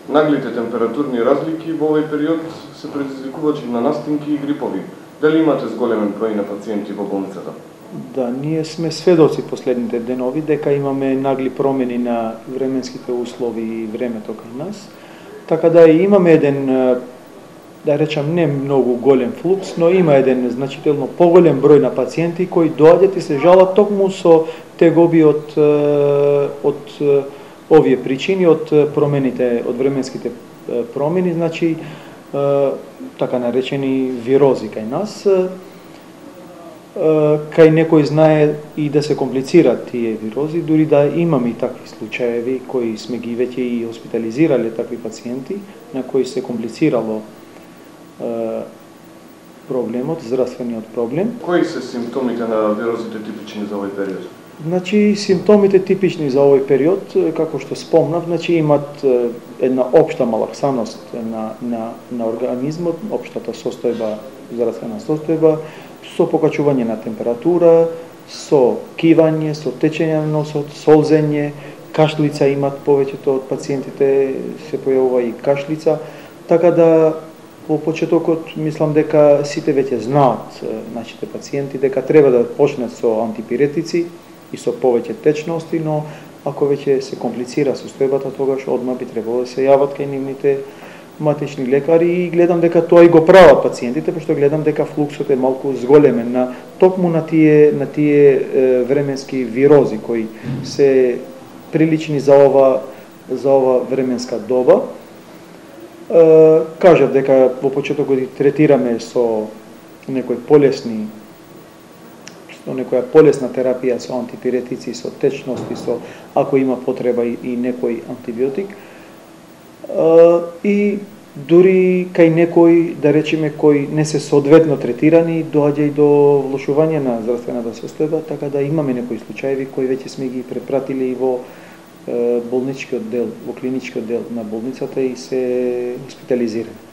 Наглите температурни разлики во овој период се предизвикувачи на настинки и грипови. Дали имате зголемен број на пациенти во болницата? Да, ние сме сведоци последните денови дека имаме нагли промени на временските услови и времето кај нас. Така да имаме еден, да речам, не многу голем флукс, но има еден значително поголем број на пациенти кои доаѓаат и се жалат токму со тегоби од овие причини, од промените, од временските промени, значи така наречени вирози кај нас. Кај некој знае и да се комплицираат тие вирози, дури да имаме и такви случаеви кои сме ги веќе и хоспитализирале такви пациенти на кои се комплицирало проблемот, здравствениот проблем. Кои се симптомите на вирозите типични за овој период? Значи, симптомите типични за овој период, како што спомнав, значи имат една општа малаксаност на организмот, општата состојба, здравствена состојба, со покачување на температура, со кивање, со течење на носот, солзење, кашлица имат повеќето од пациентите, се појавува и кашлица, така да во почетокот мислам дека сите веќе знаат нашите пациенти дека треба да почнат со антипиретици и со повеќе течности, но ако веќе се комплицира состојбата, тогаш одма би требало да се јават кај нивните матични лекари и гледам дека тоа и го прават пациентите, пошто гледам дека флуксот е малку зголемен на токму на тие временски вирози кои се прилични за ова временска доба. Кажав дека во почетокот ги третираме со некоја полесна терапија со антипиретици, со течности, со ако има потреба и некој антибиотик. И дури кај некои, да речеме, кои не се соодветно третирани, доаѓа и до влошување на здравствената состојба, така да имаме некои случаеви кои веќе сме ги препратили и во болничкиот дел, во клиничкиот дел на болницата и се хоспитализирани.